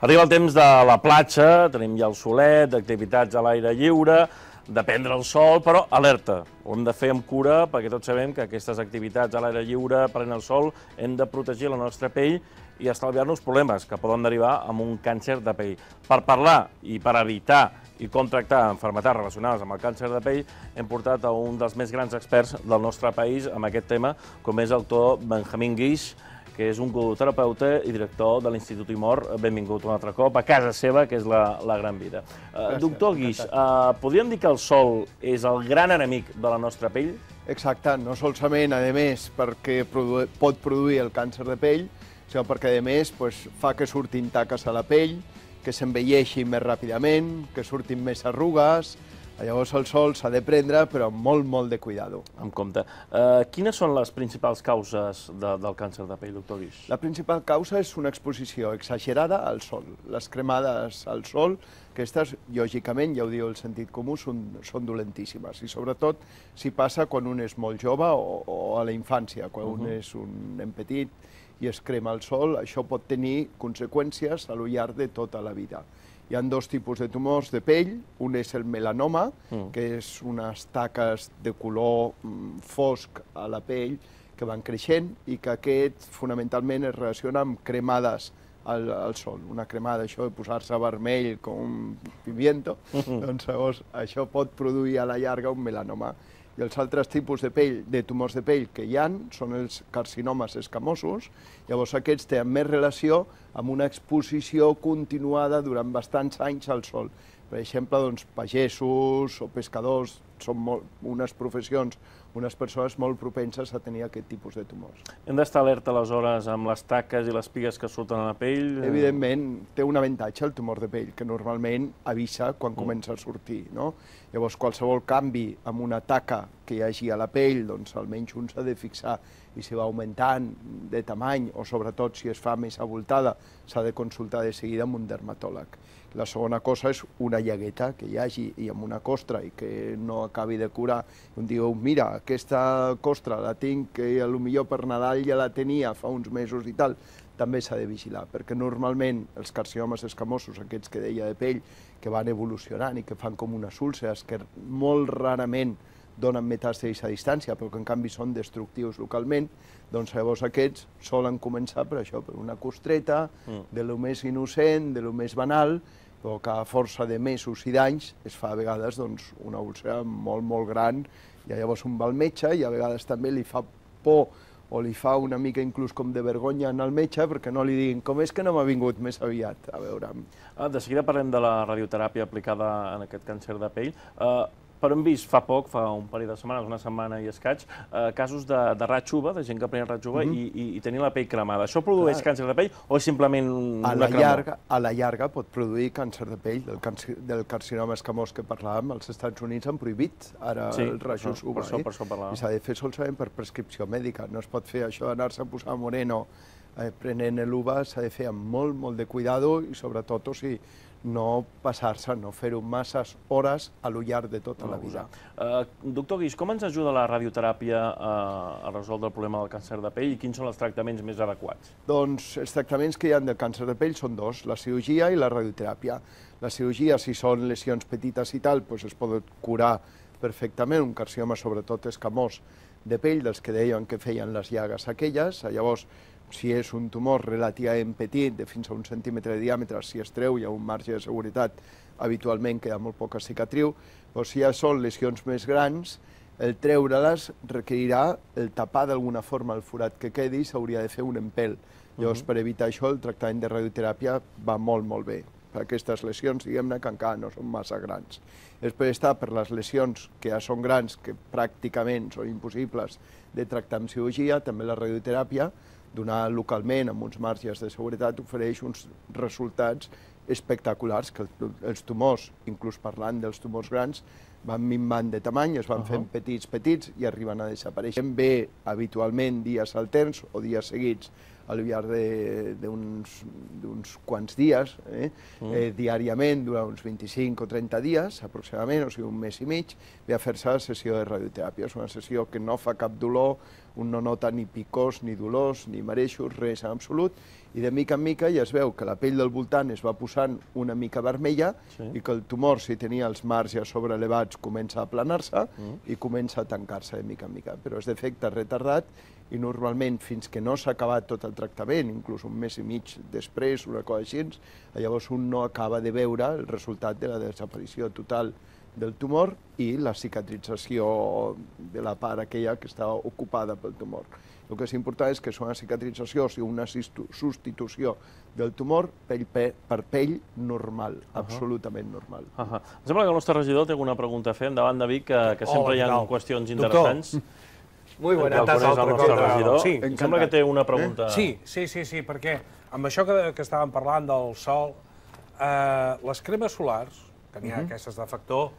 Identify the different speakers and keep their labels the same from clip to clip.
Speaker 1: Arriba el temps de la platja, tenim ja el solet, d'activitats a l'aire lliure, de prendre el sol, però alerta, ho hem de fer amb cura perquè tots sabem que aquestes activitats a l'aire lliure, prenent el sol, hem de protegir la nostra pell i estalviar-nos problemes que poden derivar amb un càncer de pell. Per parlar i per evitar i com tractar malalties relacionades amb el càncer de pell, hem portat a un dels més grans experts del nostre país en aquest tema, com és el doctor Benjamín Guix, que és un godoterapeuta i director de l'Institut Imor. Benvingut un altre cop a casa seva, que és la Gran Vida. Doctor Guix, podríem dir que el sol és el gran enemic de la nostra pell?
Speaker 2: Exacte, no solament, a més, perquè pot produir el càncer de pell, sinó perquè, a més, fa que surtin taques a la pell, que s'envelleixi més ràpidament, que surtin més arrugues. Llavors el sol s'ha de prendre, però amb molt de cuidado.
Speaker 1: En compte. Quines són les principals causes del càncer de pell, doctor Guix?
Speaker 2: La principal causa és una exposició exagerada al sol. Les cremades al sol, aquestes, lògicament, ja ho diu el sentit comú, són dolentíssimes. I sobretot si passa quan un és molt jove o a la infància, quan un és un nen petit i es crema al sol, això pot tenir conseqüències a lo llarg de tota la vida. Hi ha dos tipus de tumors de pell, un és el melanoma, que és unes taques de color fosc a la pell que van creixent i que aquest fonamentalment es relaciona amb cremades al sol. Una cremada, això de posar-se vermell com un pimiento, doncs llavors això pot produir a la llarga un melanoma. I els altres tipus de tumors de pell que hi ha són els carcinomes escamosos. Llavors aquests tenen més relació amb una exposició continuada durant bastants anys al sol. Per exemple, pagesos o pescadors són unes professions, unes persones molt propenses a tenir aquest tipus de tumors.
Speaker 1: Hem d'estar alerta aleshores amb les taques i les pigues que surten a la pell?
Speaker 2: Evidentment, té un avantatge el tumor de pell, que normalment avisa quan comença a sortir. Llavors, qualsevol canvi amb una taca que hi hagi a la pell, doncs almenys un s'ha de fixar, i si va augmentant de tamany o sobretot si es fa més avoltada, s'ha de consultar de seguida amb un dermatòleg. La segona cosa és una llagueta que hi hagi i amb una costra i que no acabi de curar. Un diu, mira, aquesta costra la tinc, que potser per Nadal ja la tenia fa uns mesos i tal, també s'ha de vigilar, perquè normalment els carcinomes escamosos, aquests que deia de pell, que van evolucionant i que fan com unes úlceres, que molt rarament donen metàstasis a distància, però que en canvi són destructius localment, doncs llavors aquests solen començar per això, per una costreta, de lo més innocent, de lo més banal, però que a força de mesos i d'anys es fa a vegades una úlcera molt gran, i llavors un va al metge i a vegades també li fa por o li fa una mica inclús com de vergonya en el metge perquè no li diguin com és que no m'ha vingut més aviat, a veure'm.
Speaker 1: De seguida parlem de la radioteràpia aplicada en aquest càncer de pell. Però hem vist fa poc, fa un parell de setmanes, una setmana i escaig, casos de ratxuva, de gent que prenia ratxuva i tenir la pell cremada. Això produeix càncer de pell o és simplement una cremor?
Speaker 2: A la llarga pot produir càncer de pell, del carcinoma escamós que parlàvem. Els Estats Units han prohibit ara els rajos UVA. I s'ha de fer solament per prescripció mèdica. No es pot fer això d'anar-se a posar moreno prenent l'UVA, s'ha de fer amb molt de cuidado i sobretot, o sigui, no passar-se, no fer-ho masses hores a lo llarg de tota la vida.
Speaker 1: Doctor Guix, com ens ajuda la radioteràpia a resoldre el problema del càncer de pell i quins són els tractaments més adequats?
Speaker 2: Doncs els tractaments que hi ha del càncer de pell són dos, la cirurgia i la radioteràpia. La cirurgia, si són lesions petites i tal, es pot curar perfectament, un carcinoma sobretot escamós de pell, dels que deien que feien les llagues aquelles. Llavors, si és un tumor relativament petit, de fins a 1 centímetre de diàmetre, si es treu hi ha un marge de seguretat, habitualment queda molt poca cicatriu, però si ja són lesions més grans, el treure-les requerirà el tapar d'alguna forma el forat que quedi i s'hauria de fer un empelt. Llavors, per evitar això, el tractament de radioteràpia va molt bé. Per aquestes lesions, diguem-ne, que encara no són massa grans. Després està per les lesions que ja són grans, que pràcticament són impossibles de tractar amb cirurgia, també la radioteràpia, donar localment amb uns marges de seguretat, ofereix uns resultats espectaculars, que els tumors, inclús parlant dels tumors grans, van minvant de tamany, es van fent petits i arriben a desaparèixer. Ve habitualment dies alterns o dies seguits al llarg d'uns quants dies, diàriament, durant uns 25 o 30 dies, aproximadament, o sigui un mes i mig, ve a fer-se la sessió de radioteràpia. És una sessió que no fa cap dolor, un no nota ni picors, ni dolors, ni mareixos, res en absolut, I de mica en mica ja es veu que la pell del voltant es va posant una mica vermella i que el tumor, si tenia els marges sobrelevats, comença a aplanar-se i comença a tancar-se de mica en mica. Però és d'efecte retardat i normalment fins que no s'ha acabat tot el tractament, inclús un mes i mig després, una cosa així, llavors un no acaba de veure el resultat de la desaparició total del tumor i la cicatrització de la part aquella que està ocupada pel tumor. El que és important és que és una cicatrització, o sigui, una substitució del tumor pell per pell normal, absolutament normal.
Speaker 1: Em sembla que el nostre regidor té alguna pregunta a fer. Endavant, David, que sempre hi ha qüestions interessants.
Speaker 3: Muy buena tarda,
Speaker 1: regidor. Em sembla que té una pregunta.
Speaker 3: Sí, perquè amb això que estàvem parlant del sol, les cremes solars, que n'hi ha aquestes de factor,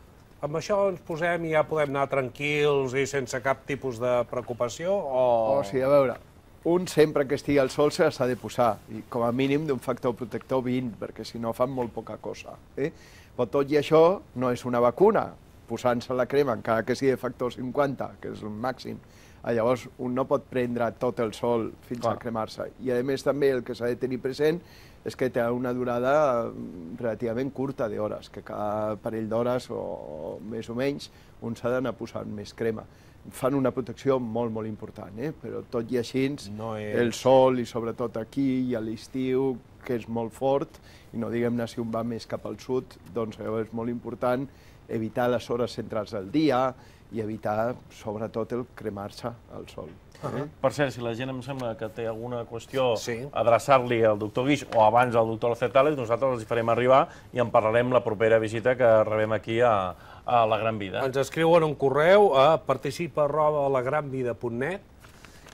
Speaker 3: amb això ens posem i ja podem anar tranquils i sense cap tipus de preocupació?
Speaker 2: O sigui, a veure, un sempre que estigui al sol se s'ha de posar, i com a mínim d'un factor protector 20, perquè si no fan molt poca cosa. Però tot i això no és una vacuna, posant-se la crema, encara que sigui de factor 50, que és el màxim. Llavors, un no pot prendre tot el sol fins a cremar-se. I a més també el que s'ha de tenir present és que té una durada relativament curta d'hores, que cada parell d'hores o més o menys un s'ha d'anar posant més crema. Fan una protecció molt, molt important, però tot i així el sol, i sobretot aquí i a l'estiu, que és molt fort, i no diguem-ne si un va més cap al sud, doncs és molt important evitar les hores centrals del dia i evitar, sobretot, el cremar-se al sol.
Speaker 1: Per cert, si la gent em sembla que té alguna qüestió, adreçar-li al doctor Guix o abans al doctor Alcetales, nosaltres els hi farem arribar i en parlarem la propera visita que rebem aquí a La Gran Vida.
Speaker 3: Ens escriuen un correu a participa@lagranvida.net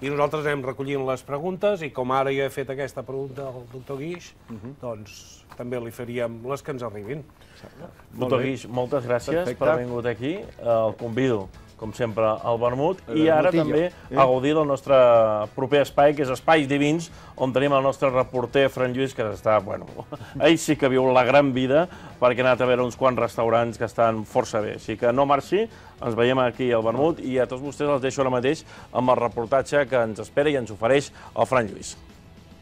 Speaker 3: i nosaltres anem recollint les preguntes i com ara jo he fet aquesta pregunta al doctor Guix, doncs també li faríem les que ens arribin.
Speaker 1: Doctor Guix, moltes gràcies per haver vingut aquí. El convido, com sempre, al vermut i ara també a gaudir del nostre proper espai, que és Espais Divins, on tenim el nostre reporter Fran Lluís, que està, bueno, ell sí que viu la gran vida, perquè ha anat a veure uns quants restaurants que estan força bé. Així que no marxi, ens veiem aquí al vermut i a tots vostès els deixo ara mateix amb el reportatge que ens espera i ens ofereix el Fran Lluís.